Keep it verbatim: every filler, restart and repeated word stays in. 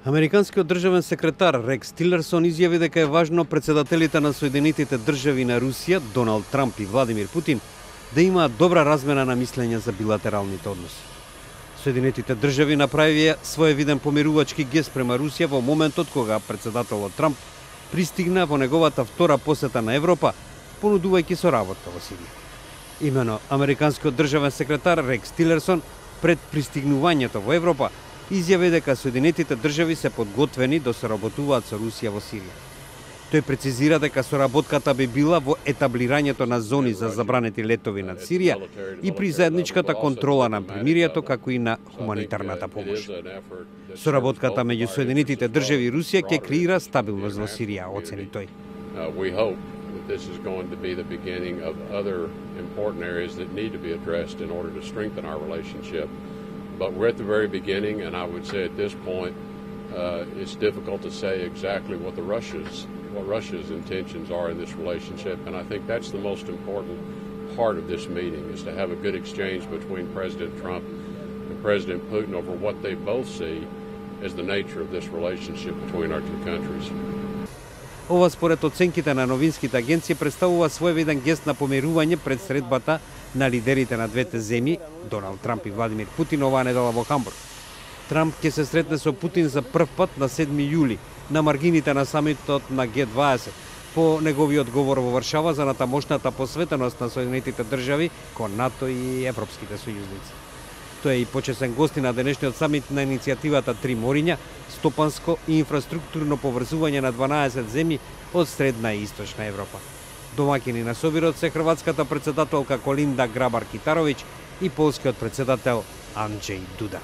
Американскиот државен секретар Рекс Тилерсон изјави дека е важно председателите на Соединетите држави на Русија, Доналд Трамп и Владимир Путин, да имаат добра размена на мислење за билатералните односи. Соединетите држави направија своевиден помирувачки гест према Русија во моментот кога председателот Трамп пристигна во неговата втора посета на Европа, понудувајќи соработка во Сирија. Имено, американскиот државен секретар Рекс Тилерсон пред пристигнувањето во Европа изјави дека Соединетите држави се подготвени да соработуваат со Русија во Сирија. Тој прецизира дека соработката би била во етаблирањето на зони за забранети летови над Сирија и при заедничката контрола на примирието, како и на хуманитарната помош. Соработката меѓу Соединетите држави и Русија ќе креира стабилност во Сирија, оцени тој. This is going to be the beginning of other important areas that need to be addressed in order to strengthen our relationship. But we're at the very beginning, and I would say at this point, uh, it's difficult to say exactly what the Russia's what Russia's intentions are in this relationship. And I think that's the most important part of this meeting, is to have a good exchange between President Trump and President Putin over what they both see as the nature of this relationship between our two countries. Ова според оценките на новинските агенции представува своевиден гест на помирување пред средбата на лидерите на двете земји, Доналд Трамп и Владимир Путин, оваа недела во Хамбург. Трамп ќе се сретне со Путин за прв пат на седми јули на маргините на самитот на Г дваесет, по неговиот говор во Варшава за натамошната посветеност на Соединетите држави кон НАТО и европските сојузници. Тој е и почесен гости на денешниот самит на иницијативата Три мориња, стопанско и инфраструктурно поврзување на дванаесет земји од средна и источна Европа. Домаќини на собирот се хрватската председателка Колинда Грабар-Китаровиќ и полскиот председател Анџеј Дуда.